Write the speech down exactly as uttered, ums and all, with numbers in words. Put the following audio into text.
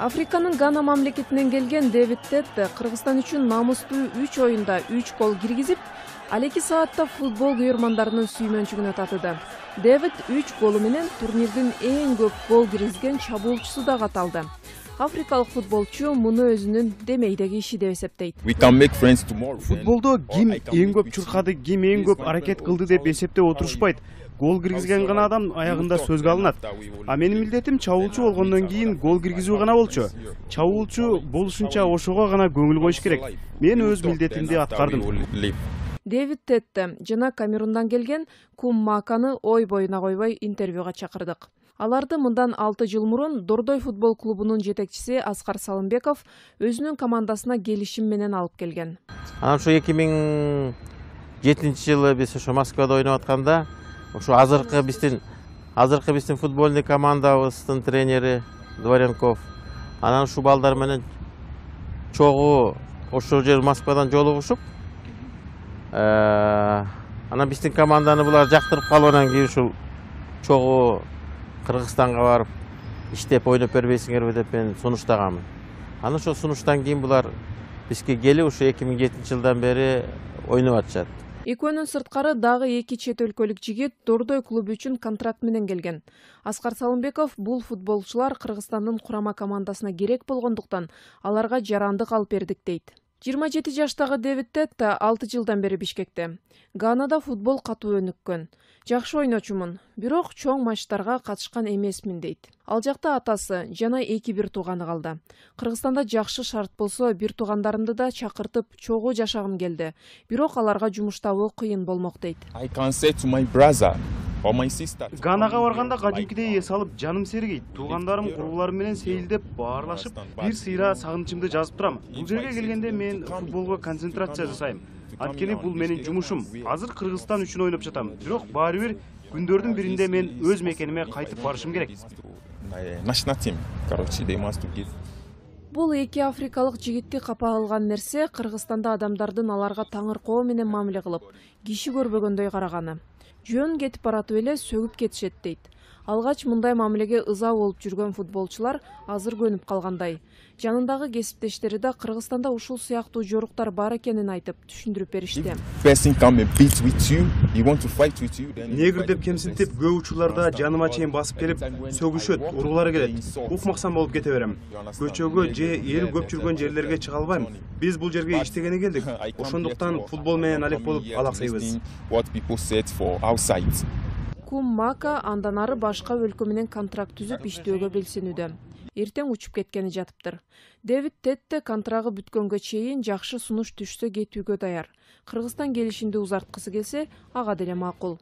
Африканын Гана мамлекетинен келген Дэвид Тетте Кыргызстан үчүн намустуу үч оюнда үч гол киргизип, ал эки саатта футбол күйөрмандарынын сүймөнчүгүнө татыды. Дэвид үч голу менен турнирдин эң көп гол киргизген чабуулчусу да каталды. Африкалык футболчу муну өзүнүн демейдеги иши деп эсептейт. Футболдо ким эң көп чуркады, ким эң көп аракет кылды деп эсептеп отурушпайт. Гол киргизген гана адам аягында сөзгө алынат. А менин милдетим чабуулчу болгондон кийин гол киргизүү гана болчу. Чабуулчу болушунча ошого гана көңүл коюш керек. Мен өз милдетимди аткардым. Дэвид Тетте жана Камерундан келген Кум Маканы ой боюна койбой интервьюга чакырдык. Аларды мындан алты жыл мурун Дордой футбол клубунун жетекчиси Аскар Салымбеков өзүнүн командасына келишим менен алып келген. Анан ушу эки миң жетинчи жылы биз ошо Москвада ойноп атканда, ошо азыркы биздин азыркы биздин футбольный командабыздын тренери Дворенков, анан ушу балдар менен чогуу ошол жер Москвадан жолугушуп, анан биздин команданы булар жактырып калгандан кийин ушул чогуу Кыргызстанга барып иштеп ойноп бербейсиңерби деп мен сунуштаганмын. Анан ошол сунуштан кийин булар бизге келип ушу эки миң жетинчи жылдан бери ойноп атышат. Экөөнүн сырткары дагы эки чет өлкөлүк жигит Дордой клубу үчүн контракт менен келген. Аскар Салымбеков бул футболчулар Кыргызстандын курама командасына керек болгондуктан аларга жарандык алып бердик дейт. жыйырма жети жаштагы Дэвид Тетте алты жылдан бери Бишкекте. Ганада футбол катуу өнүккөн. Жакшы ойночумун, бирок чоң матчтарга катышкан эмесмин дейт. Ал жакта атасы жана эки бир тууганы калды. Кыргызстанда жакшы шарт болсо, бир туугандарымды да чакыртып чогуу жашагым келди. Бирок аларга жумуш табуу кыйын болмок дейт. Ганага барганда кадимкидей эс алып жаным сергейт. Туугандарым, курбуларым менен сейилдеп, баарлашып, бир сыйра сагынычымды жазып турам. Бул жерге келгенде мен футболго концентрация жасайм. Анткени бул менин жумушум. Азыр Кыргызстан үчүн ойноп жатам. Бирок баары бир күндөрдүн биринде мен өз мекениме кайтып барышым керек. Бул эки африкалык жигитти капа кылган нерсе Кыргызстанда адамдардын аларга таңыркоо менен мамиле кылып, киши көрбөгөндөй караганы. Жөн кетип баратып эле сөгүп кетишет дейт. Алгач мындай мамилеге ыза болуп жүргөн футболчулар азыр көнүп калгандай. Жанындагы кесиптештери да Кыргызстанда ушул сыяктуу жоруктар бар экенин айтып түшүндүрүп беришти. Негр деп кемсинтип, көп учурларда жаныма чейин басып келип, сөгүшөт, уруулары келет. Укмаксан болуп кете берем. Көчөгө же эл көп жүргөн жерлерге чыга албайм. Биз бул жерге иштегени келдик. Ошондуктан футбол менен алек болуп алаксайбыз. Кум Мака андан ары башка өлкө менен контракт түзүп иштөөгө белсенүүдө. Эртең учуп кеткени жатыптыр. Дэвид Тетте контрагы бүткөнгө чейин жакшы сунуш түшсө кетүүгө даяр. Кыргызстан келишимди узарткысы келсе, ага деле макул.